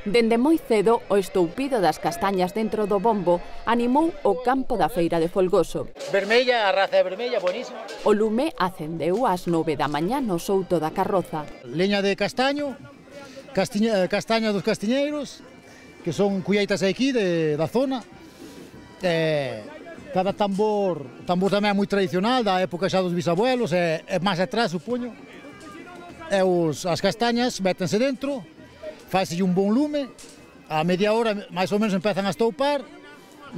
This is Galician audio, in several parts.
Dende moi cedo, o estoupido das castañas dentro do bombo animou o campo da feira de Folgoso. Vermella, a raza vermella, buenísima. O lume acendeu ás 9 da mañá no souto da carroza. Leña de castaño, castaña dos castiñeiros, que son colleitas aquí da zona. Cada tambor tamén é moi tradicional, da época xa dos bisabuelos, é máis atrás, supoño. As castañas métense dentro, faise un bon lume, a media hora máis ou menos empezan a estoupar,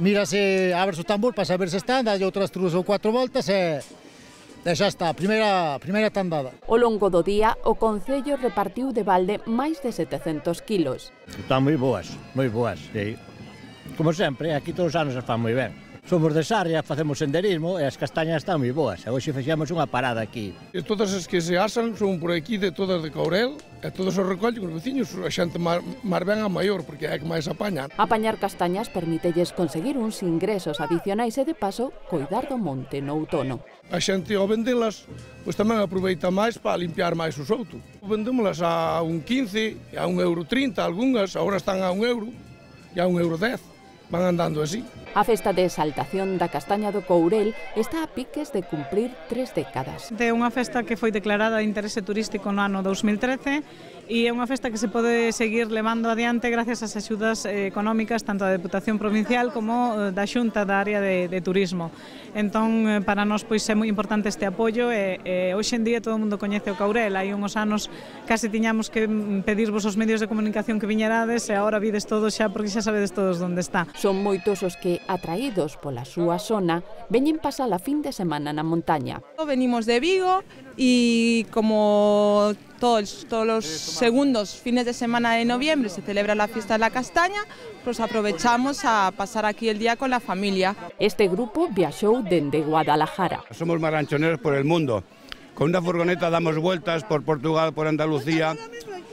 mírase, ábrese o tambor para saber se están, dalle outras 3 ou 4 voltas e xa está, primeira tandada. Ao longo do día, o Concello repartiu de balde máis de 700 kilos. Están moi boas, sí. Como sempre, aquí todos os anos se fan moi ben. Somos de Sarria, facemos senderismo e as castañas están moi boas. E hoxe fixemos unha parada aquí. E todas as que se asan son por aquí, de todas de Courel, e todos os recollen os veciños, a xente máis ben a maior, porque é que máis apañan. Apañar castañas permítelles conseguir uns ingresos adicionais e, de paso, coidar do monte no outono. A xente, ao vendelas, pois tamén aproveita máis para limpiar máis o souto. Vendémolas a 1,15, a 1,30 €, algunhas, agora están a 1 € e a 1,10 €. Van andando así. A festa de exaltación da castaña do Courel está a piques de cumprir 3 décadas. É unha festa que foi declarada de interese turístico no ano 2013 e é unha festa que se pode seguir levando adiante gracias ás axudas económicas tanto da Deputación Provincial como da Xunta da área de turismo. Entón, para nós pois é moi importante este apoio e hoxe en día todo o mundo coñece o Courel. Hai uns anos case tiñamos que pedirvos os medios de comunicación que viñerades e agora vides todos xa porque xa sabedes todos onde está. Son moitos os que, atraídos pola súa zona, veñen pasar a fin de semana na montaña. Venimos de Vigo e como todos los segundos fines de semana de noviembre se celebra la fiesta de la castaña, pues aprovechamos a pasar aquí el día con la familia. Este grupo viaxou dende Guadalajara. Somos maranchoneros por el mundo. Con una furgoneta damos vueltas por Portugal, por Andalucía,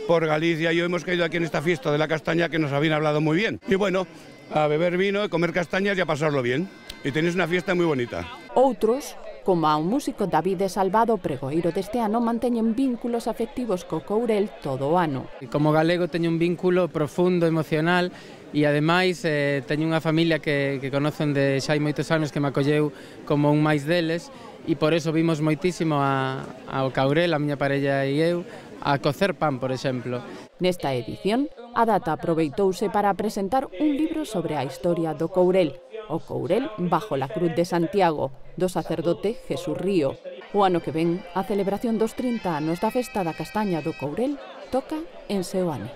por Galicia y hoy hemos caído aquí en esta fiesta de la castaña que nos habían hablado muy bien. Y bueno, a beber vino, a comer castañas y a pasarlo bien. Y tenéis una fiesta muy bonita. Outros, como o músico David Salvado, pregoeiro deste ano, manteñen vínculos afectivos co Courel todo o ano. Como galego teño un vínculo profundo, emocional, e ademais teño unha familia que conocen de xa hai moitos anos que me acolleu como un máis deles e por eso vimos moitísimo ao Courel, a miña parella e eu, a cocer pan, por exemplo. Nesta edición, a data aproveitouse para presentar un libro sobre a historia do Courel, o Courel bajo la Cruz de Santiago, do sacerdote Jesús Río. O ano que ven, a celebración dos 30 anos da festa da castaña do Courel toca en Seoane.